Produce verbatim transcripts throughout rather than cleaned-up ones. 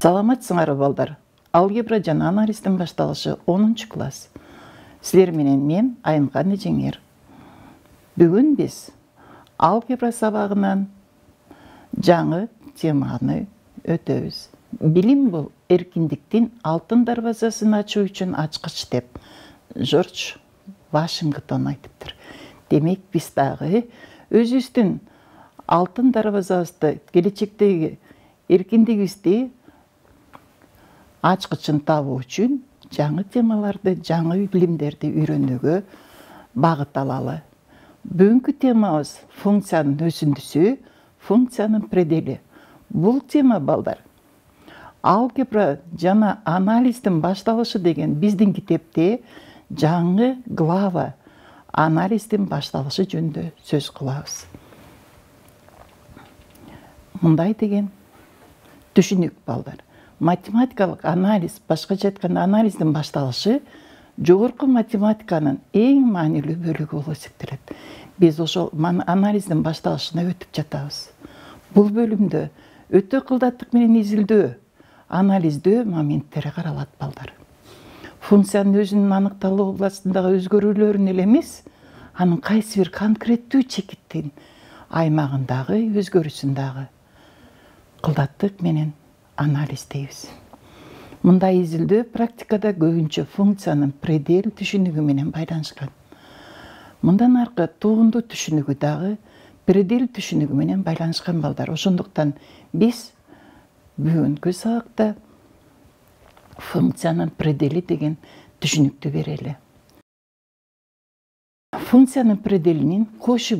Саламатсыңарбы балдар? Алгебра жана анализдин башталышы онунчу класс. Силер менен мен Айымкан Эжеңер. Бүгүн биз алгебра сабагынан жаңы теманы өтөбүз. Билим бул эркиндиктин алтын дарбазасын ачуу үчүн ачкыч деп Жорж Вашингтон айтыптыр. Демек биз дагы өзүбүздүн алтын дарбазабызды, келечектеги эркиндигибизди ачкычын табуу үчүн жаңы темаларды, жаңы билимдерди үйрөнүүгө багыт алалы. Бүгүнкү темабыз функциянын өзүндүсү, функциянын предели. Бул тема балдар алгебра жана анализдин башталышы деген биздин китепте жаңы глава анализдин башталышы жөнүндө сөз кылабыз. Мындай деген түшүнүк балдар. Математикалык анализ, башкача айтканда анализдин башталышы жогорку математиканын эң маанилүү бөлүгү болуп эсептелет. Биз ошол анализдин башталышына өтүп жатабыз. Бул бөлүмдө өтө кылдаттык менен изилдөө, анализдөө моменттери каралат балдар. Функциянын өзүнүн аныкталуу областындагы өзгөрүүлөрүн эле эмес, анын кайсы бир конкреттүү чекиттин аймагындагы өзгөрүүсүн дагы кылдаттык менен анализ дейбиз. Мындай изилдөө практикада көбүнчө функциянын предел түшүнүгү менен байланышкан. Мындан аркы туунду түшүнүгү дагы предел түшүнүгү менен байланышкан балдар. Ошондуктан биз бүгүнкү сабакта функциянын предели деген түшүнүктү берели. Функциянын пределинин кошу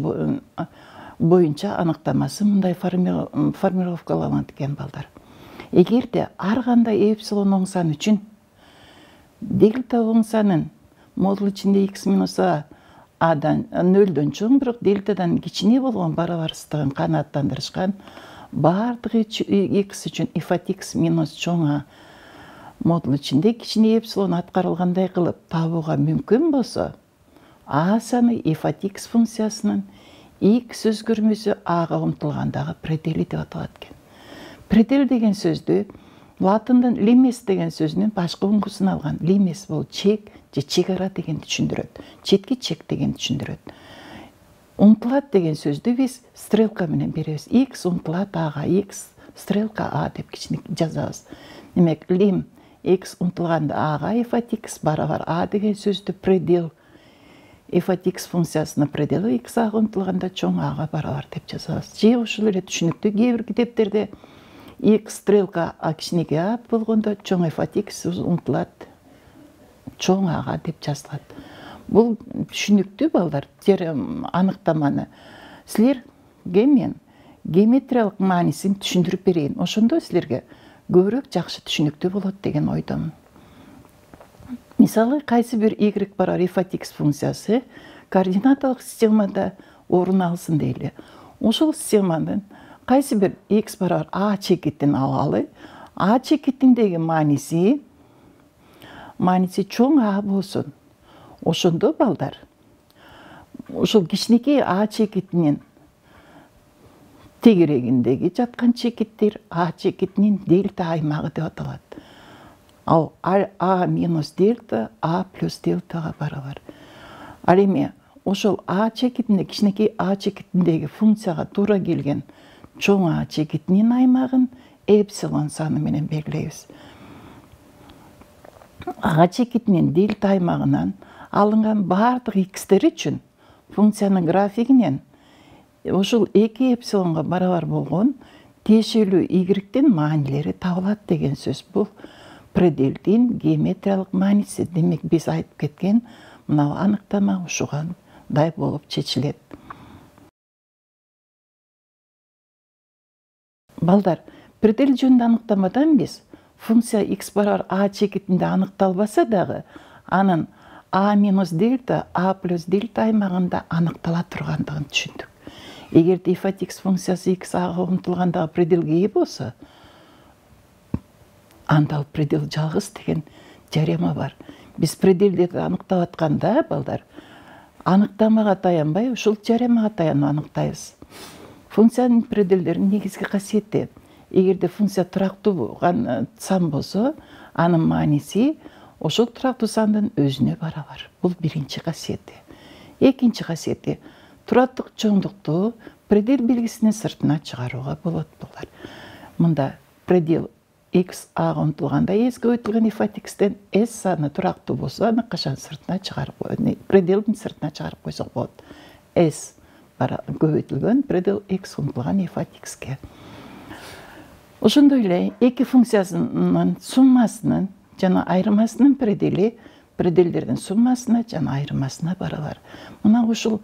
боюнча аныктамасы мындай формулировкаланган экен балдар. Эгерде ар кандай эпсилон оң сан үчүн дельта оң санын модуль ичинде x минус a адан нөлдөн чоң, бирок дельтадан кичине болгон барабарсыздыгын канааттандырышкан баардык x үчүн f от x минус чоң a модуль ичинде кичине эпсилон аткарылгандай кылып табууга мүмкүн болсо, a саны f от x функциясынын x өзгөрмөсү ага умтулгандагы предели деп аталат экен. Предел деген сөздү латындын limes деген сөзүнүн башкы уңгусун алган. Limes бул чек же чек ара дегенди түшүндүрөт. Четки чек дегенди түшүндүрөт. Умтулат деген сөздү биз стрелка менен беребиз. X умтулат ага, x стрелка a деп кичине жазабыз. Демек, lim x умтулганда ага f от x барабар a деген сөздү предел f от x функциясынын пределы x ага умтулганда чоң ага барабар деп жазабыз. Же ушул эле түшүнүктүү кээ бир китептерде x стрелка a кичинекей a болгондо чоң f от x умтулат чоң ага деп жазылат. Бул түшүнүктүү балдар, аныктаманы силерге мен геометриялык маанисин түшүндүрүп берейин. Ошондо силерге көбүрөөк жакшы түшүнүктүү болот деген ойдомун. Мисалы, кайсы бир y барабар f от x функциясы координаталык системада орун алсын дейли. Ошол системанын кайсы бир x барабар a чекитин алалы, a чекитиндеги мааниси мааниси чоң a болсун. Ошондо балдар, ошол кичинекей a чекитинин тегерегиндеги жаткан чекиттер a чекитинин дельта аймагы деп аталат. Ал a минус дельта a плюс дельтага барабар. Ал эми ошол a чекитинде, кичинекей a чекитиндеги функцияга туура келген чоң a чекитинин аймагын эпсилон саны менен белгилейбиз. A чекитинин дельта аймагынан алынган баардык x'тер үчүн функциянын графигинен ошол эки эпсилонго барабар болгон тиешелүү y-тин маанилери табылат деген сөз. Бул пределдин геометриялык мааниси. Демек, биз айтып кеткен мына аныктама ушугандай болуп чечилет. Балдар, предел жөнүндө аныктамадан биз функция x барабар a чекитинде аныкталбаса дагы, анын a минус дельта a плюс дельта аймагында аныктала тургандыгын түшүндүк. Эгерде f от x функциясы x ага умтулгандагы пределге ээ болсо, анда ал предел жалгыз деген теорема бар. Биз пределдерди аныктап атканда, балдар, аныктамага таянбай, ушул теоремага таянып аныктайбыз. Функциянын пределдеринин негизги касиети эгерде функция турактуу сан болсо, анын мааниси ошол турактуу сандын өзүнө барабар. Бул биринчи касиети. Экинчи касиети тураттык чоңдукту предел белгисинин сыртына чыгарууга болот булар. Мында предел x ага умтулганда s көбөйтүлгөн f от x'тен s саны турактуу болсо, аны качан сыртына чыгарып коет, пределдин сыртына чыгарып койсок болот. S көбөйтүлгөн предел x умтулган f от x'ке. Ошондой эле эки функциясынын суммасынын жана айырмасынын предели пределдердин суммасына жана айырмасына барабар. Мына ушул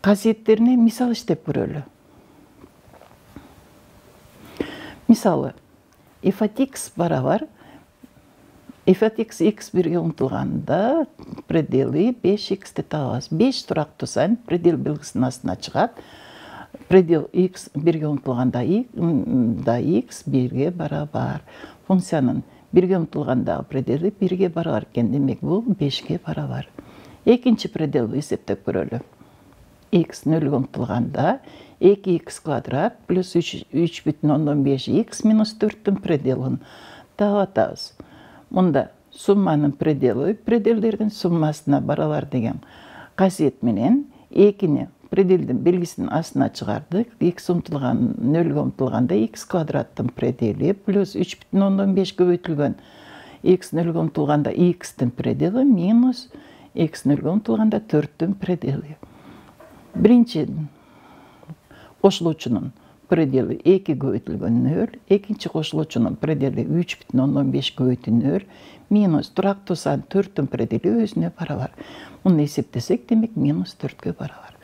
касиеттерине мисал иштеп көрөлү. Мисалы, f от x барабар f от x x бирге умтулганда предели беш x'ти табабыз. беш турактуу сан предел белгисинин астына чыгат. Предел x бирге умтулганда x бирге барабар. Функциянын бирге умтулгандагы предели бирге барабар экен. Демек, бул бешке барабар. Экинчи пределди эсептеп көрөлү. X нөлгө умтулганда эки икс квадрат плюс үч бүтүн ондон беш x минус төрттүн пределин таап атабыз. Мында сумманын предели пределдердин суммасына барабар деген касиет менен экини пределдин белгисинин астына чыгардык. X умтулган нөлгө умтулганда x квадраттын предели плюс үч бүтүн ондон беш көбөйтүлгөн x нөлгө умтулганда x'тин предели минус x нөлгө умтулганда төрттүн предели. Биринчи кошулуучунун предели эки көбөйтүлгөн нөл, экинчи кошулуучунун предели үч бүтүн ондон беш көбөйтүү нөл, минус турактуу сан төрттүн предели өзүнө барабар. Муну эсептесек, демек минус төрткө барабар.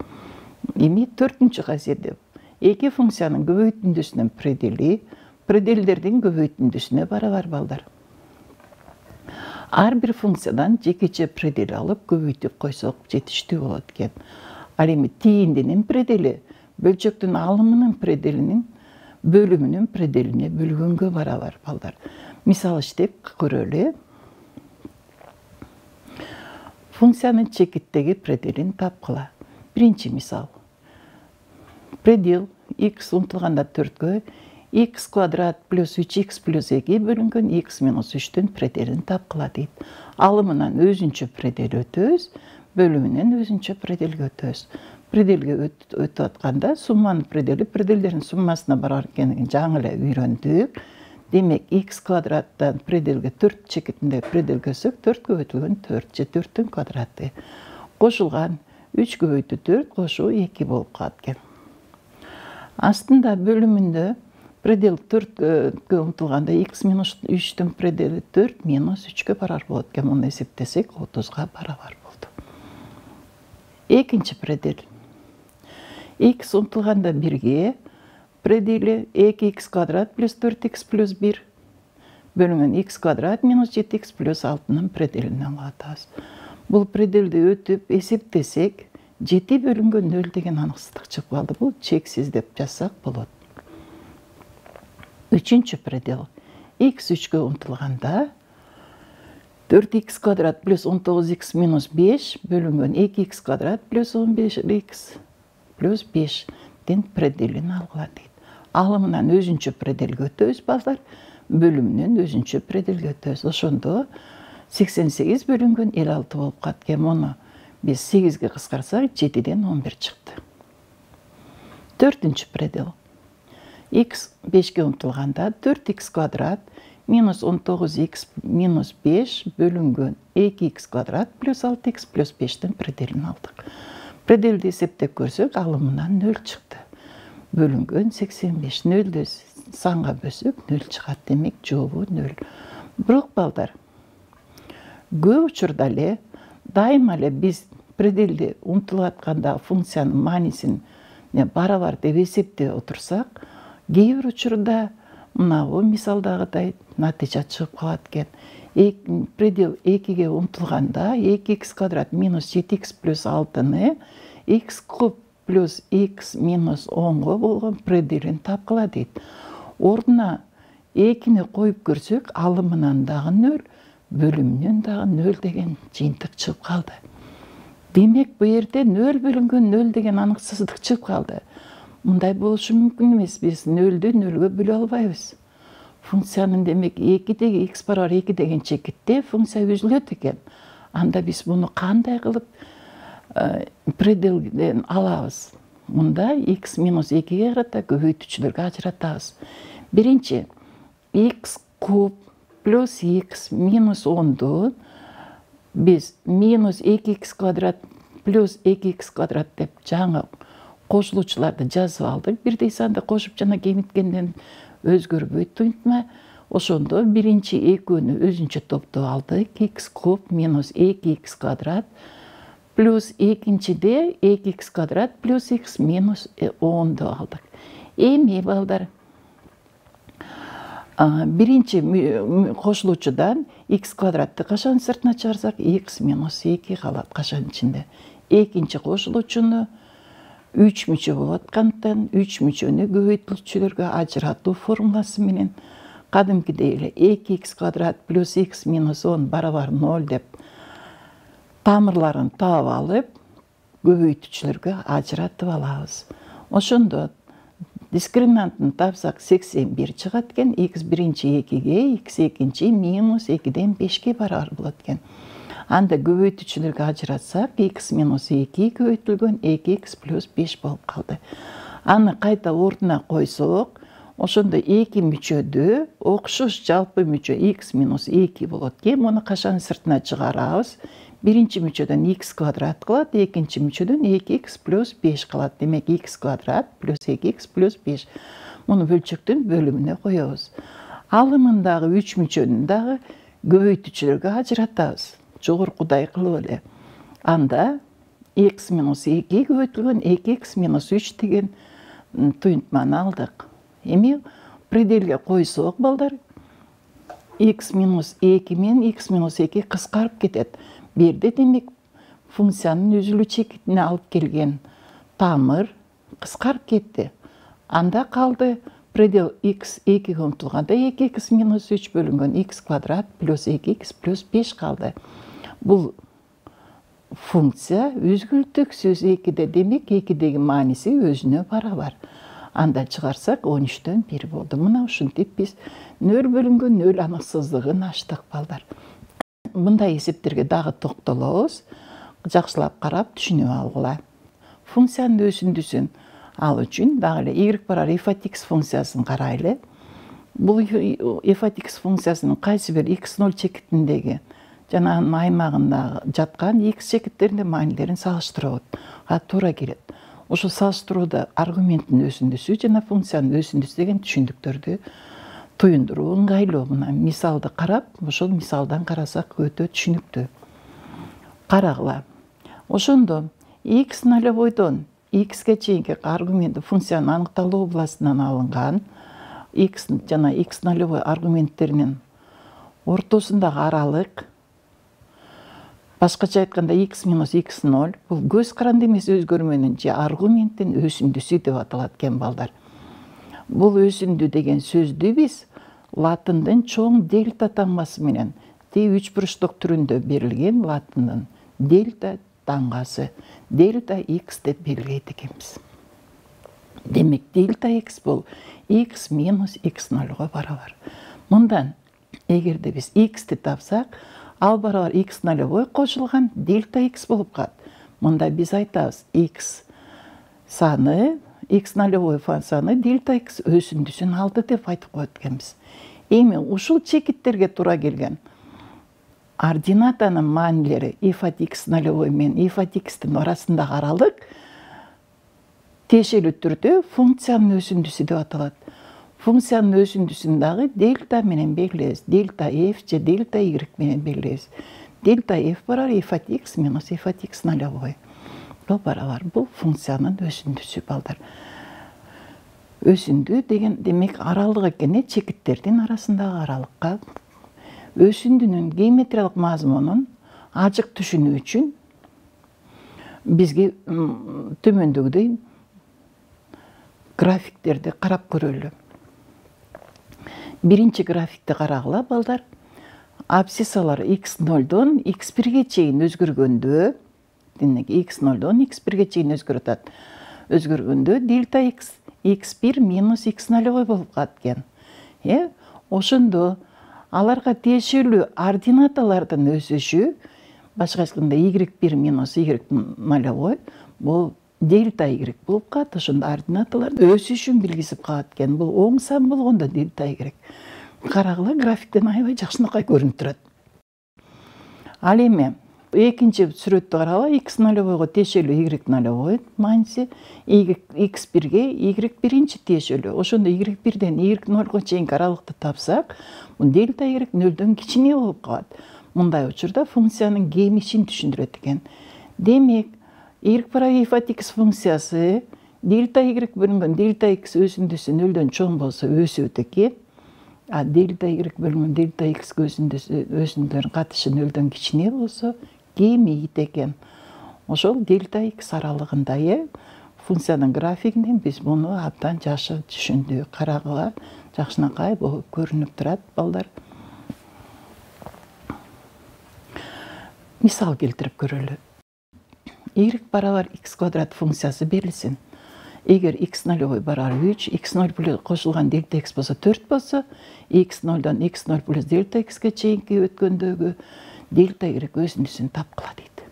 Эми төртүнчү касиети эки функциянын көбөйтүндүсүнүн предели пределдердин көбөйтүндүсүнө барабар балдар. Ар бир функциядан жекече предел алып көбөйтүп койсок жетиштүү болот экен. Ал эми тийиндинин предели бөлчөктүн алымынын пределинин бөлүмүнүн пределине бөлгөнгө барабар балдар. Мисал иштеп көрөлү. Функциянын чекиттеги пределин тапкыла. Биринчи мисал. Предел x умтулганда төрткө x квадрат плюс үч икс плюс эки бөлүнгөн x минус үчтүн пределин тапкыла дейт. Алымынан өзүнчө предел өтөбүз, бөлүмүнөн өзүнчө пределге өтөбүз. Пределге өтүп атканда сумманын предели пределдердин суммасына барар экенин жаңы эле үйрөндүк. Демек, x квадраттан пределге төрт чекитинде предел көсөк төрт көбөйтүлгөн төрт же төрттүн квадраты. Кошулган үч көбөйтүү төрт кошуу эки болуп калат экен. Астында бөлүмүндө предел төрткө умтулганда x минус үчтүн предели төрт минус үчкө барар болот экен. Муну эсептесек, отузга барабар болду. Экинчи предел. X умтулганда бирге предели эки икс квадрат плюс төрт икс плюс бир бөлүнгөн x квадрат минус жети икс плюс алтынын пределин алып атабыз. Бул пределди өтүп эсептесек, жети бөлүнгөн нөл деген аныксыздык чыгып калды. Бул чексиз деп жазсак болот. Үчүнчү предел. X үчкө умтулганда төрт икс квадрат плюс он тогуз икс минус беш бөлүнгөн эки икс квадрат плюс он беш икс плюс бештин пределин алгыла дейт. Алымынан өзүнчө пределге өтөбүз балдар, бөлүмүнөн өзүнчө пределге өтөбүз. Ошондо сексен сегиз бөлүнгөн элүү алты болуп калат экен. Муну биз сегизге кыскартсак, жетиден он бир чыкты. Төртүнчү предел. X бешке умтулганда төрт икс квадрат минус он тогуз икс минус беш бөлүнгөн эки икс квадрат плюс алты икс плюс бештин пределин алдык. Пределди эсептеп көрсөк, алымынан нөл чыкты. Бөлүнгөн сексен беш. Нөлдү санга бөлсөк, нөл чыгат. Демек, жообу нөл. Бирок балдар, көп учурда эле дайыма эле биз пределди умтулуп атканда функциянын маанисин барабар деп эсептеп отурсак, кээ бир учурда мынабу мисалдагыдай натыйжа чыгып калат экен. Предел экиге умтулганда эки икс квадрат минус жети икс плюс алтыны x куб плюс x минус онго болгон пределин тапкыла дейт. Ордуна экини коюп көрсөк, алымынан дагы нөл, бөлүмүнөн дагы нөл деген жыйынтык чыгып калды. Демек, бу жерде нөл бөлүнгөн нөл деген аныксыздык чыгып калды. мындай болушу мүмкүн эмес. Биз нөлдү нөлгө бөлө албайбыз. Функциянын демек экидеги x барабар эки деген чекитте функция үзүлөт экен. Анда биз муну кандай кылып пределден алабыз? Мында x минус экиге карата көбөйтүүчүлөргө ажыратабыз. Биринчи, x куб плюс x минус онду биз минус эки икс квадрат плюс эки икс квадрат деп жаңы кошулуучуларды жазып алдык. Бирдей санды кошуп жана кемиткенден өзгөрбөйт туйнтма. Ошондо биринчи экөөнү өзүнчө топтоп алдык. X куб минус эки икс квадрат плюс экинчиде эки икс квадрат плюс x минус онду алдык. Эми балдар, биринчи кошулуучудан x квадратты кашан сыртына чыгарсак x минус эки калат кашан ичинде. Экинчи кошулуучуну үч мүчө болуп аткандыктан үч мүчөнү көбөйтүүчүлөргө ажыратуу формуласы менен кадимкидей эле эки икс квадрат плюс x минус он барабар ноль деп тамырларын таап алып көбөйтүүчүлөргө ажыратып алабыз. Ошондо дискриминантын тапсак сексен бир чыгат экен. X биринчи экиге, x экинчи минус экиден бешке барабар болот экен. Анда көбөйтүүчүлөргө ажыратсак x минус эки көбөйтүлгөн эки икс плюс беш болуп калды. Аны кайта ордуна койсок, ошондо эки мүчөдө окшош жалпы мүчө x минус эки болот экен. Муну кашан сыртына чыгарабыз? Биринчи мүчөдөн x квадрат калат, экинчи мүчөдөн эки икс плюс беш калат. Демек x квадрат плюс эки икс плюс беш. Муну бөлчөктүн бөлүмүнө коебуз. Алымындагы үч мүчөнү дагы көбөйтүүчүлөргө ажыратабыз. Жогоркудай кылып эле. Анда x минус эки көбөйтүлгөн эки икс минус үч деген туйнтманы алдык. Эми пределге койсок балдар, x минус эки менен x минус эки кыскарып кетет. Бирде демек функциянын үзүлүү чекитине алып келген тамыр кыскарып кетти. Анда калды предел x экиге умтулганда эки икс минус үч бөлүнгөн x квадрат плюс эки икс плюс беш калды. Бул функция үзгүлтүксүз экиде, демек экидеги мааниси өзүнө барабар. Анда чыгарсак он үчтөн бир болду. Мына ушинтип биз нөл бөлүнгөн нөл аныксыздыгын ачтык балдар. Мындай эсептерге дагы токтолобуз. Жакшылап карап түшүнүп алгыла. Функциянын өсүндүсүн ал үчүн дагы эле y барабар f от x функциясын карайлы. Бул f от x функциясынын кайсы бир x ноль чекитиндеги жана анын аймагында жаткан x чекиттеринде маанилерин салыштырабыз. А туура келет. Ошо салыштырууда аргументтин өсүндүсү жана функциянын өсүндүсү деген түшүндүктөрдү туюндуруу ыңгайлуу. Мына мисалды карап, ошол мисалдан карасак өтө түшүнүктүү. Карагыла. Ошондо x нолевойдон xге чейинки аргументи функциянын аныкталуу областынан алынган x жана x нолевой аргументтеринин ортосундагы аралык, башкача айтканда x минус x ноль, бул көз каранды эмес өзгөрмөнүн же аргументтин өсүндүсү деп аталат экен балдар. Бул өсүндү деген сөздү биз латындын чоң дельта таңбасы менен Т үч буручтук түрүндө берилген латындын дельта таңгасы дельта x деп белгилейт экенбиз. Демек дельта x бул x минус x нольго барабар. Мындан эгерде биз x'ти тапсак, ал барабар x нолевой кошулган дельта x болуп калат. Мында биз айтабыз x саны, x нолевой саны дельта x өсүндүсүн алды деп айтып коет экенбиз. Эми ушул чекиттерге туура келген ординатанын маанилери f от x нолевой менен f от x'тин арасындагы аралык тиешелүү түрдө функциянын өсүндүсү деп аталат. Функциянын өсүндүсүн дагы дельта менен белгилейбиз. Дельта f же дельта y менен белгилейбиз. Дельта f барабар f от x минус f от x нолевой. Бул барабар бул функциянын өсүндүсү балдар. Өсүндү деген демек аралык экен, чекиттердин арасындагы аралыкка. Өсүндүнүн геометриялык мазмунун ажык түшүнүү үчүн бизге төмөндөгүдөй графиктерди карап көрөлү. Биринчи графикти карагыла балдар. Абсциссалар x нолдон x бирге чейин өзгөргөндө, демек x нолдон x бирге чейин өзгөрүп атат. өзгөргөндө дельта x x бир минус x нолевой болуп калат экен. Э, ошондо аларга тиешелүү ординаталардын өсүшү, башка айтканда y бир минус y нолевой бул дельта y болуп калат. Ошондо ординаталардын өсүшүн билгизип калат экен. Бул оң сан болгондо дельта y. Карагыла, графиктен аябай жакшынакай көрүнүп турат. Ал эми экинчи сүрөттү карагыла, x нолевойго тиешелүү y нолевой мааниси, x бирге y биринчи тиешелүү. Ошондо y бирден y нолго чейинки аралыкты тапсак, бул дельта y нөлдөн кичине болуп калат. Мындай учурда функциянын кемишин түшүндүрөт экен. Демек, y барабар f от x функциясы дельта y бөлүнгөн дельта x өзүндүсү нөлдөн чоң болсо өсөт экен. А дельта y бөлүнгөн дельта x өзүндүсү өзүндөрүн катышы нөлдөн кичине болсо кемейт экен. Ошол дельта x аралыгында э функциянын графигинен биз муну абдан жакшы түшүндүк. Карагыла, жакшынакай болуп көрүнүп турат балдар. Мисал келтирип көрөлү. Y барабар x квадрат функциясы берилсин. Эгер x нолевой барабар үч, x ноль плюс кошулган дельта x болсо төрт болсо, x нолдон x ноль плюс дельта x'ке чейинки өткөндөгү дельта y өзүндүсүн тапкыла дейт.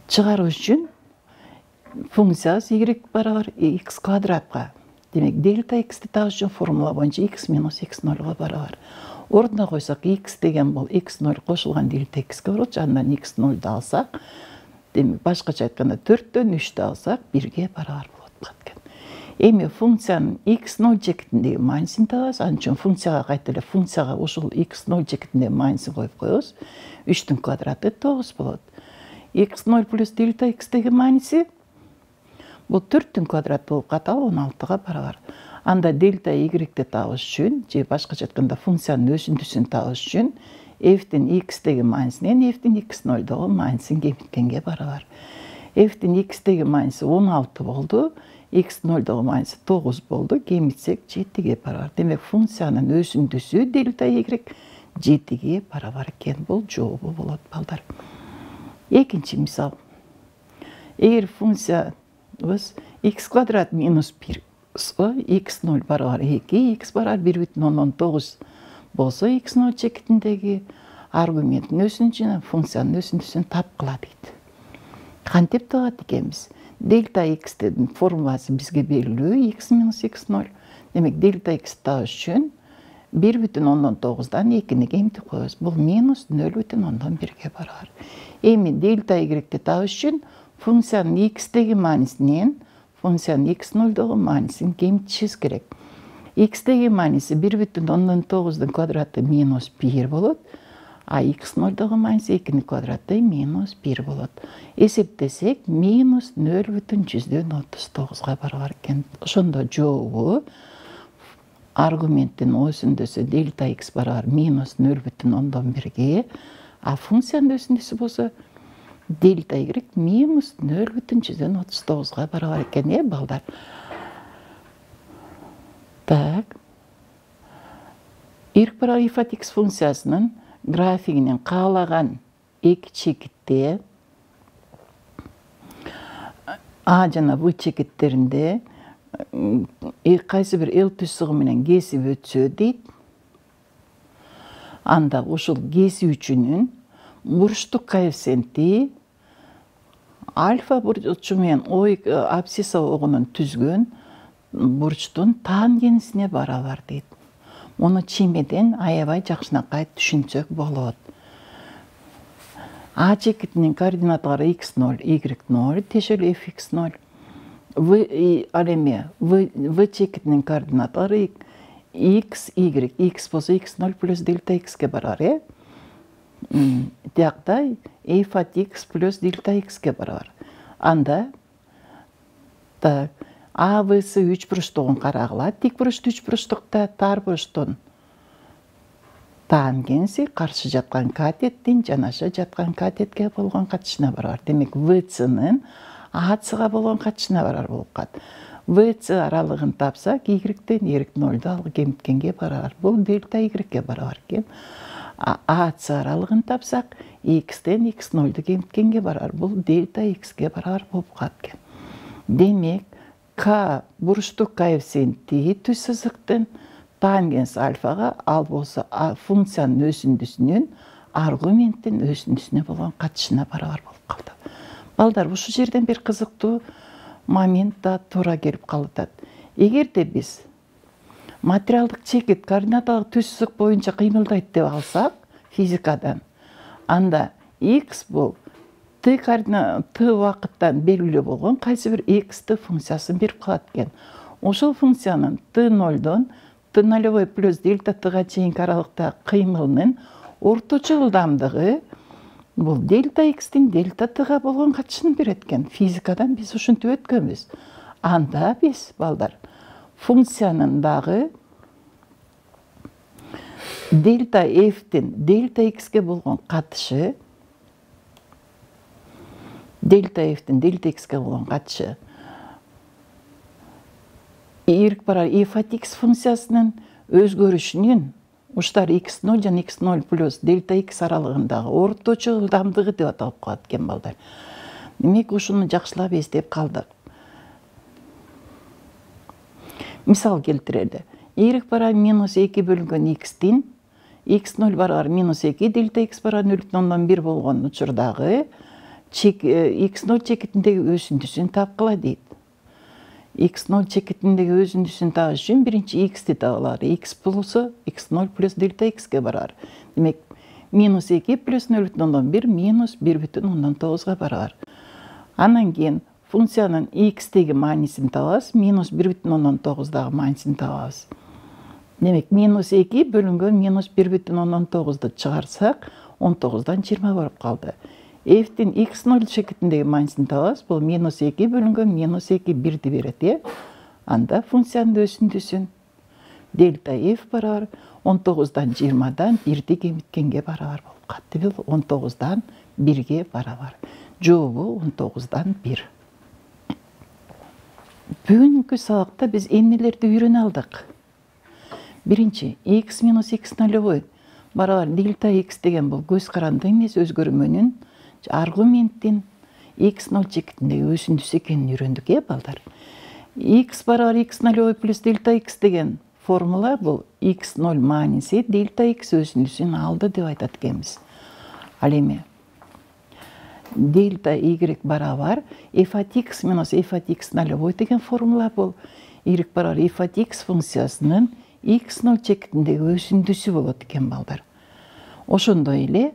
Чыгаруу үчүн функциясы y барабар x квадратка. Демек, дельта x'ти табыш үчүн формула боюнча x минус x нолго барабар. Ордуна койсок, x деген бул x ноль кошулган дельта x'ке барат, андан x нольду алсак, демек, башкача айтканда төрттөн үчтү алсак, бирге барабар болот экен. Эми функциянын x ноль чекитиндеги маанисин табабыз. Ал үчүн функцияга кайта эле функцияга ушул x ноль чекитиндеги маанисин коюп коебуз. үчтүн квадраты тогуз болот. x ноль плюс дельта x'теги мааниси бул төрттүн квадраты болуп калат, ал он алтыга барабар. Анда дельта y-ти табыш үчүн, же башкача айтканда функциянын өзүндүсүн табыш үчүн f'тин x'теги маанисинен f'тин x нольдогу маанисин кемиткенге барабар. F'тин x'теги мааниси он алты болду, x нольдогу мааниси тогуз болду, кемитсек жетиге барабар. Демек, функциянын өзүндүсү дельта y жетиге барабар экен. Бул жообу болот балдар. Экинчи мисал. Эгер функциябыз x квадрат минус бир x ноль барабар эки, x барабар бир бүтүн ондон тогуз болсо, x ноль чекитиндеги аргументтин өзүндүсүн, функциянын өзүндүсүн тапкыла дейт. Кантип табат экенбиз? Дельта x'тин формуласы бизге белгилүү, x минус x ноль. Демек, дельта x табыш үчүн бир бүтүн ондон тогуздан экини кемитип коебуз. Бул минус нөл бүтүн ондон бирге барабар. Эми дельта y-ти табыш үчүн функциянын x'теги маанисинен функциянын x нольдогу маанисин кемитишибиз керек. X-теги мааниси бир бүтүн ондон тогуздун квадраты минус бир болот, а x нольдогу мааниси экинин квадраты минус бир болот. Эсептесек, минус нөл бүтүн жүздөн отуз тогузга барабар экен. Ошондо жообу аргументтин өзүндүсү дельта x барабар минус нөл бүтүн ондон бирге, а функциянын өзүндүсү болсо дельта y минус нөл бүтүн жүздөн отуз тогузга барабар экен, э, балдар. Так. Y барабар f от x функциясынын графигинин каалаган эки чекитте А жана В чекиттеринде кайсы бир L түзсүгү менен кесип өтсө дейт. Анда ушул кесүүчүнүн бурчтук коэффициенти альфа бурчу менен абсцисса огунун түзгөн бурчтун тангенсине барабар дейт. Муну чимеден аябай жакшынакай түшүнсөк болот. А чекитинин координаталары x ноль, y ноль, тиешелүү fx ноль. В ал эми В чекитинин координаталары x, y, x болсо x ноль плюс дельта x'ке барабар, э? Тиякта f от x плюс дельта x'ке барабар. Анда так А В'сы үч бурчтугун карагыла. Тик бурчтуу үч бурчтукта тар бурчтун тангенси каршы жаткан катеттин жанаша жаткан катетке болгон катышына барабар. Демек, В'сынын A'сыга болгон катышына барабар болуп калат. В'сы аралыгын тапсак, y-тен y нольду алып кемиткенге барабар. Бул дельта y-ке барабар экен. A'сы аралыгын тапсак, x-тен x нольду кемиткенге барабар. Бул дельта x-ке барабар болуп калат экен. Демек k бурчтук коэффициенти түз сызыктын тангенс альфага, ал болсо функциянын өзүндүсүнүн аргументтин өзүндүсүнө болгон катышына барабар болуп калды. Балдар, ушул жерден бир кызыктуу момент да туура келип калат. Эгерде биз материалдык чекит координаталык түз сызык боюнча кыймылдайт деп алсак физикадан, анда x бул t координат t убакыттан белгилүү болгон кайсы бир x функциясын берип калат экен. Ошол функциянын t нолдон t нолевой плюс дельта t-га чейинки аралыктагы кыймылынын орточо ылдамдыгы бул дельта x'тин дельта t-га болгон катышын берет экен. Физикадан биз ушинтип өткөнбүз. Анда биз, балдар, функциянын дагы дельта f'тин дельта x'ке болгон катышы, дельта f'тин дельта x'ке болгон катышы y барар f от x функциясынын өзгөрүшүнүн уштар x ноль жана x ноль плюс дельта x аралыгындагы орточо ылдамдыгы деп аталып калат экен, балдар. Демек, ушуну жакшылап эстеп калдык. Мисал келтирели. Y барар минус эки бөлүнгөн x'тин x ноль барар минус эки, дельта x барар нөл бүтүн ондон бир болгон учурдагы x ноль чекитиндеги өзүндүсүн тапкыла дейт. x ноль чекитиндеги өзүндүсүн табыш үчүн биринчи x'ти табылар. X болсо x ноль плюс дельта x'ке барар. Демек, минус эки плюс нөл бүтүн ондон бир минус бир бүтүн ондон тогузга барар. Анан кийин функциянын x'теги маанисин табабыз, минус бир бүтүн ондон тогуздагы маанисин табабыз. Демек, минус эки бөлүнгөн минус бир бүтүн ондон тогузду чыгарсак, он тогуздан жыйырма болуп калды. F'тин x ноль чекитиндеги маанисин табабыз, бул минус эки бөлүнгөн минус эки бирди берет, э? Анда функциянын өзүндүсүн дельта f барабар он тогуздан жыйырмадан бирди кемиткенге барабар болуп калды. Бул он тогуздан бирге барабар. Жообу он тогуздан бир. Бүгүнкү сабакта биз эмнелерди үйрөнө алдык? Биринчи, x минус x нолевой барабар дельта x деген бул көз каранды эмес өзгөрмөнүн аргументтин x ноль чекитиндеги өзүндүсү экенин үйрөндүк, э, балдар. X барабар x нолевой плюс дельта x деген формула бул x ноль мааниси дельта x өзүндүсүн алды деп айтат экенбиз. Ал эми дельта y барабар f от x минус f от x нолевой деген формула бул y барабар f от x функциясынын x ноль чекитиндеги өзүндүсү болот экен, балдар. Ошондой эле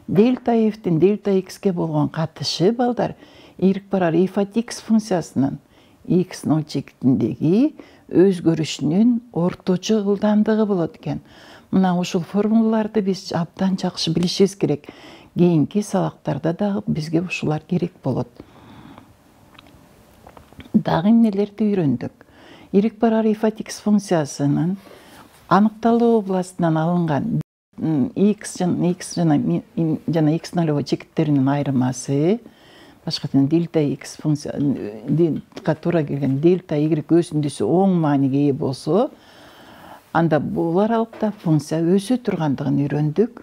дельта f'тин дельта x'ке болгон катышы, балдар, y барар f от x функциясынын x ноль чекитиндеги өзгөрүшүнүн орточо ылдамдыгы болот экен. Мына ушул формулаларды биз абдан жакшы билишибиз керек. Кийинки сабактарда дагы бизге ушулар керек болот. Дагы эмнелерди үйрөндүк? Y барар f от x функциясынын аныкталуу областынан алынган x жана x жана x нолевой чекиттеринин айырмасы, башка тилде дельта x функцияга туура келген дельта y өзүндүсү оң мааниге ээ болсо, анда бул аралыкта функция өсө тургандыгын үйрөндүк.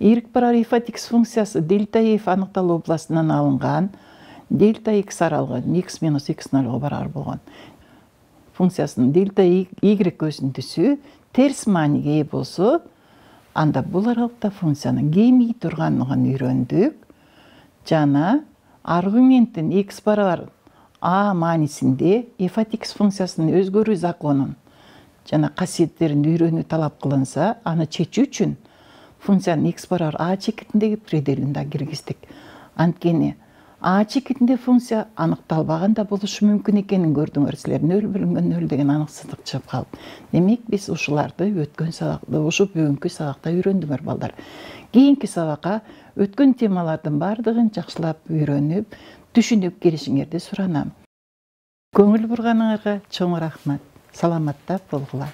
Y барар f от x функциясы дельта f аныкталуу областынан алынган дельта x аралыгы x минус x нольго барабар болгон функциясынын дельта y өзүндүсү терс мааниге ээ болсо, анда бул аралыкта функциянын кемий тургандыгын үйрөндүк. Жана аргументтин x барабар a маанисинде f от x функциясынын өзгөрүү законун жана касиеттерин үйрөнүү талап кылынса, аны чечүү үчүн функциянын x барабар a чекитиндеги пределин да киргиздик. Анткени a чекитинде функция аныкталбаган да болушу мүмкүн экенин көрдүңөр силер. нөл бөлүнгөн нөл деген аныксыздык чыгып калып. Демек, биз ушуларды өткөн сабакта, ушу бүгүнкү сабакта үйрөндүңөр, балдар. Кийинки сабакка өткөн темалардын бардыгын жакшылап үйрөнүп, түшүнүп келишиңерди суранам. Көңүл бурганыңарга чоң рахмат. Саламатта болгула.